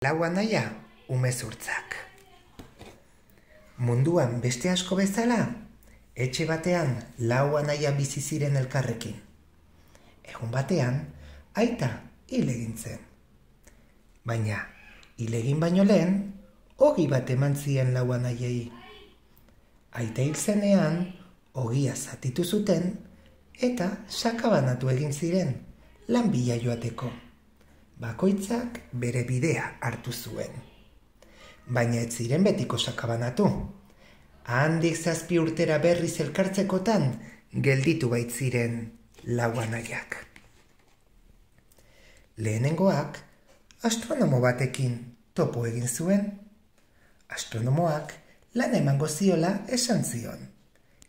Lau anaia, umezurtzak. Munduan beste asko bezala, etxe batean lau anaia bizi ziren elkarrekin. Egun batean, aita hil egin zen. Baina, hil egin baino lehen, ogi bat eman zien lau anaiei. Aita hil zenean, ogia zatitu zuten, eta sakabanatu egin ziren, lan bila joateko. Bakoitzak bere bidea hartu zuen. Baina ez ziren betiko sakabanatu. Handik 7 urtera berriz elkartzekotan gelditu baitziren lau anaiak. Lehenengoak astronomo batekin topo egin zuen. Astronomoak lan emango ziola esan zion,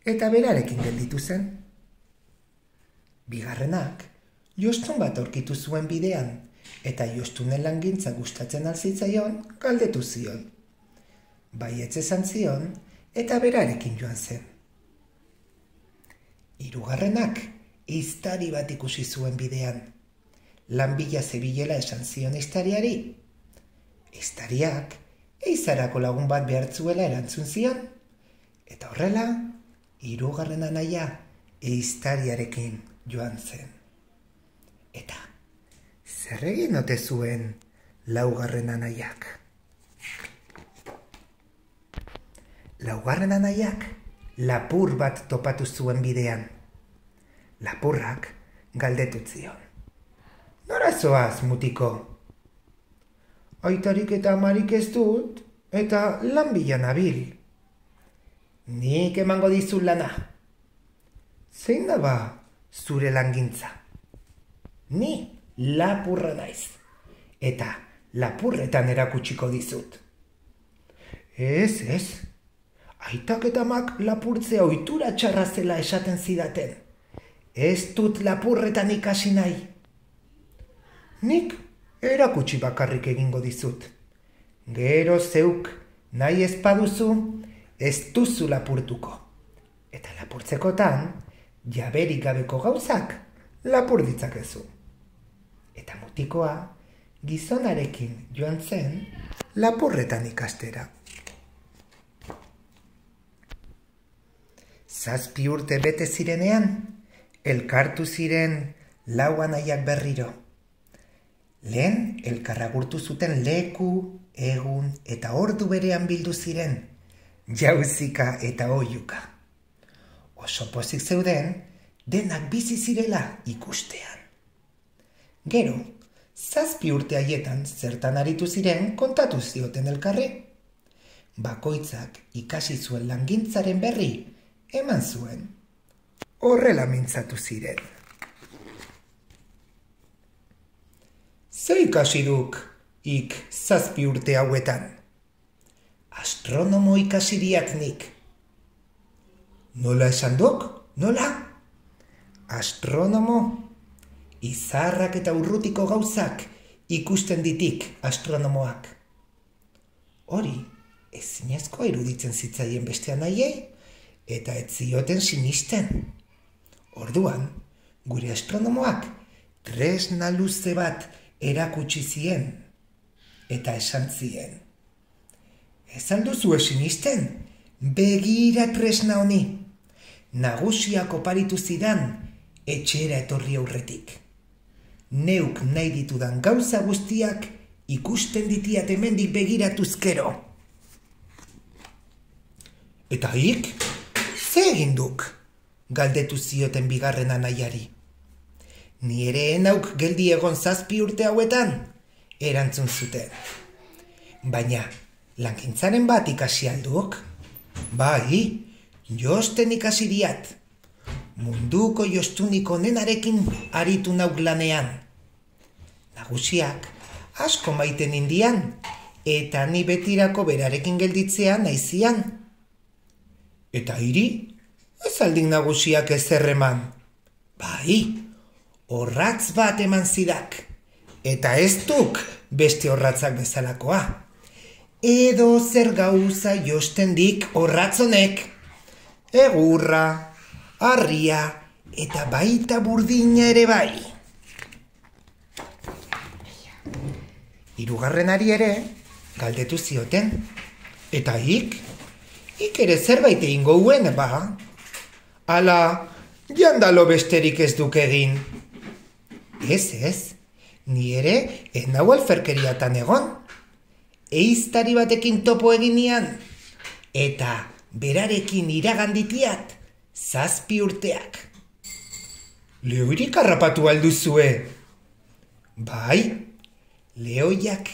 eta berarekin gelditu zen. Bigarrenak jostun bat aurkitu zuen bidean, eta jostunen langintza gustatzen alzitzaion galdetu zion. Baietz esan zion, eta berarekin joan zen. Hirugarrenak ehiztari bat ikusi zuen bidean. Lan bila zebilela esan zion ehiztariari. Ehiztariak ehizarako lagun bat behartzuela erantzun zion, eta horrela, hirugarren anaia ehiztariarekin joan zen. Eta zer egin ote zuen laugarren anaiak? Laugarren anaiak lapur bat topatu zuen bidean. Lapurrak galdetu zion. Nora zoaz, mutiko? Aitarik eta amarik ez dut, eta lan bila nabil. Nik emango dizut lana. Zein da ba zure langintza? Ni lapurra naiz, eta lapurretan erakutsiko dizut. Ez, aitak eta amak lapurtzea ohitura txarra zela esaten zidaten. Ez dut lapurretan ikasi nahi. Nik erakutsi bakarrik egingo dizut. Gero zeuk nahi ez baduzu, ez duzu lapurtuko. Eta lapurtzekotan, jaberik gabeko gauzak lapur ditzakezu. Eta mutikoa gizonarekin joan zen lapurretan ikastera. 7 urte bete zirenean, elkartu ziren lau anaiak berriro. Lehen elkarragurtu zuten leku, egun eta ordu berean bildu ziren, jauzika eta oihuka. Oso pozik zeuden, denak bizi zirela ikustean. Gero, 7 urte haietan zertan aritu ziren kontatu zioten elkarri. Bakoitzak ikasi zuen langintzaren berri eman zuen. Horrela mintzatu ziren. Ze ikasi duk ik 7 urte hauetan? Astronomo ikasiriat nik. Nola esan duk? Nola? Astronomo? Izarrak eta urrutiko gauzak ikusten ditik astronomoak. Hori, ezinezkoa iruditzen zitzaien beste anaiei, eta ez zioten sinisten. Orduan, gure astronomoak tresna luze bat erakutsi zien, eta esan zien. Ez alduzu sinisten, begira tresna honi. Nagusiak oparitu zidan, etxera etorri aurretik. Neuk nahi ditudan gauza guztiak ikusten ditiat hemendik begiratuzkero. Eta hik, ze egin duk? Galdetu zioten bigarren anaiari. Ni ere enauk geldi egon 7 urte hauetan, erantzun zuten. Baina, langintzaren bat ikasi alduk? Bai, josten ikasi diat. Munduko jostunik onenarekin aritu nauk lanean. Nagusiak asko maiten indian, eta ni betirako berarekin gelditzea naizian. Eta hiri, ez aldik nagusiak ezer eman. Bai, orratz bat eman zidak, eta ez duk beste orratzak bezalakoa. Edo zer gauza josten dik orratzonek. Egurra, harria eta baita burdina ere bai. Hirugarrenari ere galdetu zioten. Eta ik ere zerbait egingo huen, ba? Ala, jandalo besterik ez duk egin. Ez, ni ere enau alferkeriatan egon. Eiztari batekin topo eginian, eta berarekin iraganditiat 7 urteak. Lehoirik harrapatu alduzue? Bai, lehoiak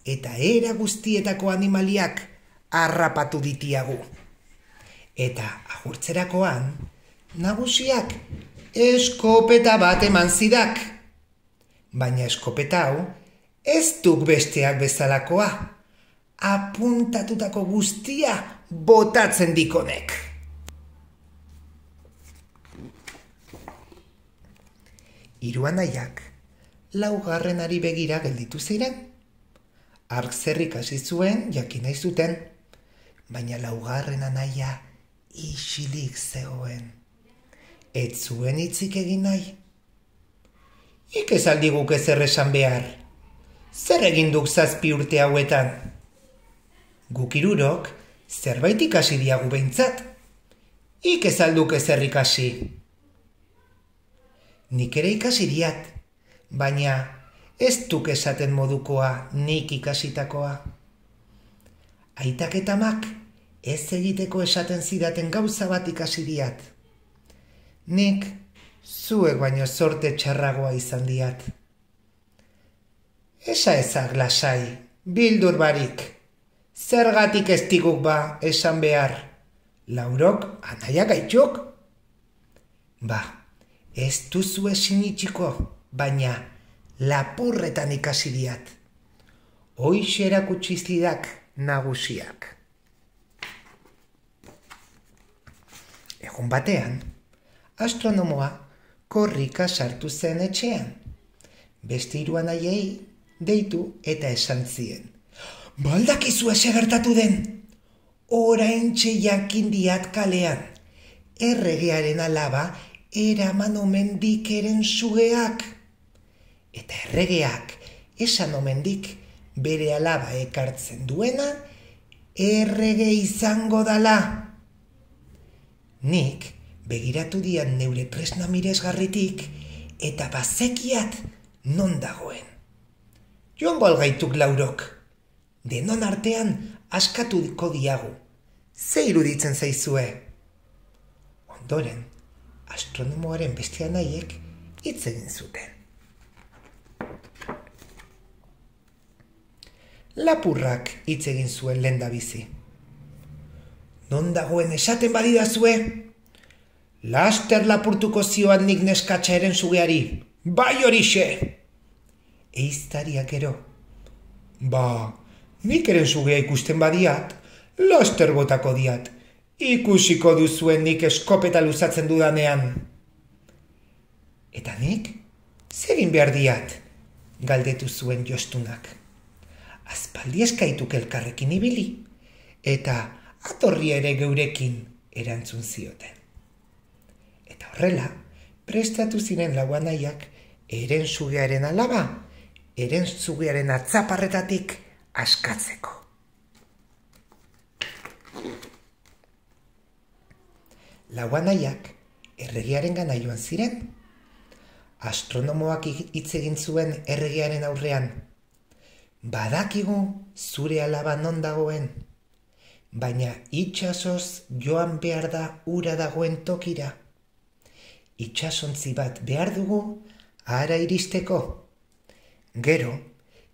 eta era guztietako animaliak harrapatu ditiagu. Eta agurtzerakoan, nagusiak eskopeta bat eman zidak. Baina eskopeta hau ez duk besteak bezalakoa. Apuntatutako guztia botatzen dikonek. Hiru anaiak laugarrenari begira gelditu ziren. Hark zerrik hasi zuen jakin nahi zuten, baina laugarren anaia isilik zegoen. Ez zuen hitzik egin nahi. Ik ez aldiguk ezer esan behar. Zer egin duk 7 urte hauetan? Guk hirurok zerbait ikasi diagu behintzat. Ik ez alduk ezer ikasi. Nik ere ikasi diat, baina ez duk esaten modukoa nik ikasitakoa. Aitak eta amak ez egiteko esaten zidaten gauza bat ikasi diat. Nik zuek baino zorte txarragoa izan diat. Esa ezak lasai, bildur barik. Zergatik ez diguk ba esan behar. Laurok anaia gaituk? Ba, ez duzu ezin itxiko, baina lapurretan ikasi diat. Hoixe erakutsi zidak nagusiak. Egun batean, astronomoa korrika sartu zen etxean. Beste 3 anaiei deitu eta esan zien. Baldakizu ese gertatu den? Oraintxe jakin diat kalean. Erregearen alaba eraman omen dikeren sugeak. Eta erregeak esan omen dik bere alaba ekartzen duena errege izango dala. Nik begiratu dian neure tresna miresgarritik eta bazekiat non dagoen. Joango algaituk Laurok. Denon artean askatuko diagu. Ze iruditzen zaizue? Ondoren, astronomoaren beste anaiek hitz egin zuten. Lapurrak hitz egin zuen lehendabizi. Non dagoen esaten badidazue? Laster lapurtuko zioan nik neskatxaren sugeari. Bai horixe! Eiztariak ero. Ba, nik eren sugea ikusten badiat, laster botako diat. Ikusiko duzuen nik eskopeta luzatzen dudanean. Eta nik? Zegin behar diat? Galdetu zuen Jostunak. Aspaldi eskaituk elkarrekin ibili, eta atorri ere geurekin erantzun zioten. Eta horrela, prestatu ziren lau anaiak eren sugearen alaba, eren sugearen atzaparretatik askatzeko. Lau anaiak erregearen gana joan ziren. Astronomoak hitz egin zuen erregearen aurrean. Badakigu zure alaba non dagoen, baina itsasoz joan behar da ura dagoen tokira. Itsasontzi bat behar dugu hara iristeko. Gero,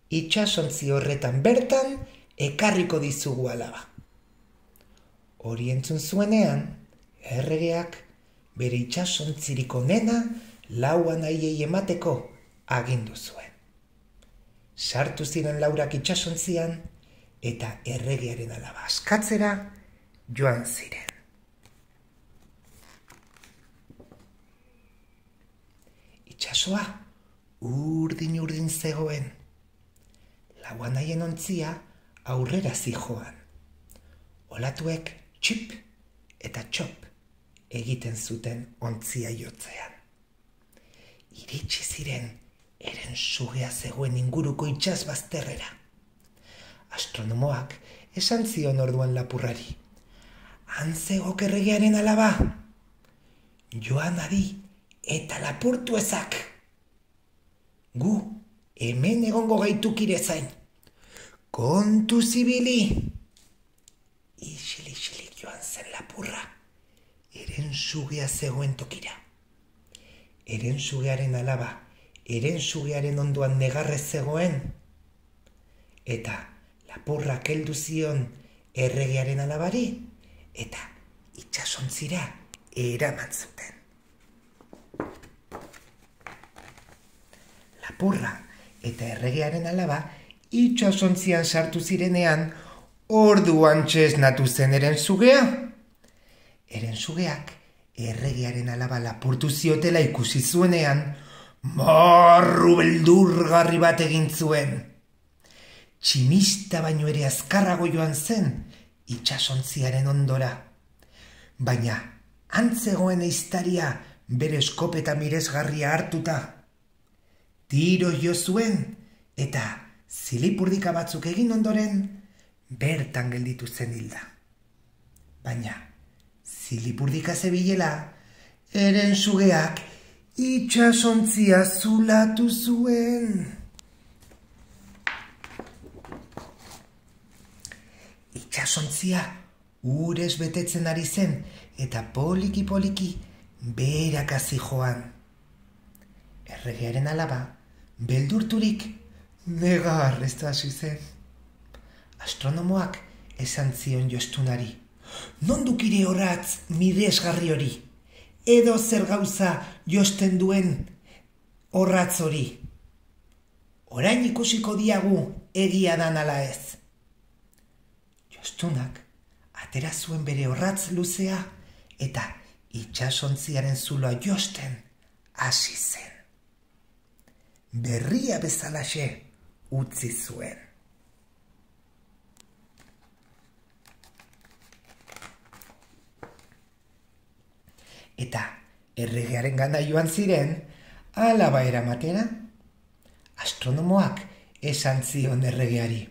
itsasontzi horretan bertan ekarriko dizugu alaba. Hori entzun zuenean, erregeak bere itsasontzirik onena lau anaiei emateko agindu zuen. Sartu ziren laurak itsasontzian eta erregearen alaba askatzera joan ziren. Itsasoa urdin zegoen. Lau anaien ontzia aurrera zijoan. Olatuek txip eta txop egiten zuten ontzia jotzean. Iritsi ziren eren sugea zegoen inguruko itsas bazterrera. Astronomoak esan zion orduan lapurrari. Han zegok erregearen alaba. Joan adi eta lapurtu ezak. Gu hemen egongo gaitukire zain. Kontu zibili. Isilik joan zen lapurra. Eren sugea zegoen tokira. Eren sugearen alaba, eren sugearen ondoan negarrez zegoen. Eta lapurrak heldu zion erregearen alabari, eta itsasontzira eraman zuten. Lapurra eta erregearen alaba itsasontzian sartu zirenean, orduan txesnatu zen eren sugea. Eren sugeak erregearen alaba lapurtu ziotela ikusi zuenean, marru beldurgarri bat egin zuen. Tximista baino ere azkarrago joan zen itsasontziaren ondora. Baina antzegoen ehiztaria bere eskopeta miresgarria hartuta. Tiro jo zuen eta zilipurdika batzuk egin ondoren bertan gelditu zen hilda. Baina zilipurdika zebilela, eren sugeak itsasontzia zulatu zuen. Itsasontzia urez betetzen ari zen eta poliki beherakazi joan. Erregearen alaba, beldurturik negarrez hasi zen. Astronomoak esan zion jostunari. Non dukire orratz miresgarri hori? Edo zer gauza josten duen orratz hori? Orain ikusiko diagu egia dan ala ez. Jostunak atera zuen bere orratz luzea eta itsasontziaren zuloa josten hasi zen. Berria bezalaxe utzi zuen. Eta erregearen gana joan ziren, alaba eramatera. Astronomoak esan zion erregeari.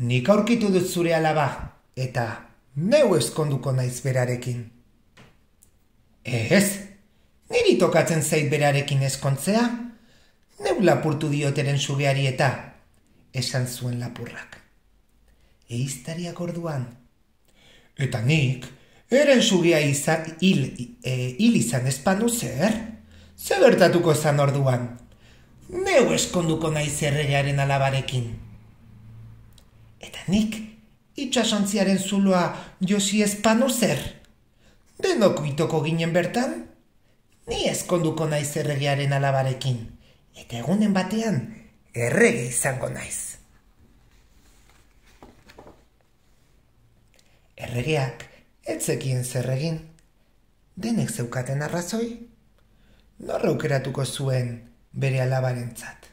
Nik aurkitu dut zure alaba, eta neu eskonduko naiz berarekin. Ez, niri tokatzen zait berarekin eskontzea, neu lapurtu dioteren sugeari eta, esan zuen lapurrak. Ehiztariak orduan. Eta nik, eren sugea hil izan espanu zer? Zer gertatuko zan orduan? Neu eskonduko naiz erregearen alabarekin. Eta nik itsasontziaren zuloa josi espanu zer? Denok itoko ginen bertan? Ni eskonduko naiz erregearen alabarekin. Eta egunen batean errege izango naiz. Erregeak ez zekien zer egin. Denek zeukaten arrazoi? Nor aukeratuko zuen bere alabarentzat.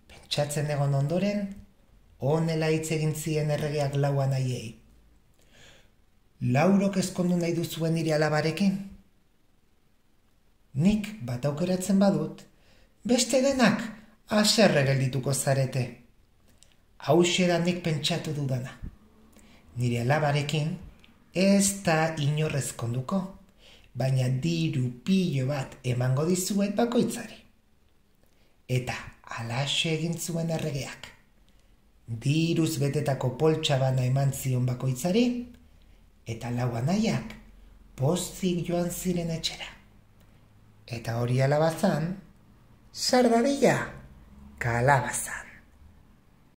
Pentsatzen egon ondoren, honela hitz egin zien erregeak lauan haiei. Laurok ezkondu nahi duzuen nire alabarekin? Nik bat aukeratzen badut, beste denak haserre geldituko zarete. Hauxe da nik pentsatu dudana. Nire alabarekin ez da inorrez konduko, baina diru pilo bat emango dizuet bakoitzari. Eta halaxe egin zuen erregeak. Diruz betetako poltsabana eman zion bakoitzari, eta lau anaiak pozik joan ziren etxera. Eta hori alabazan, sardadila kalabazan.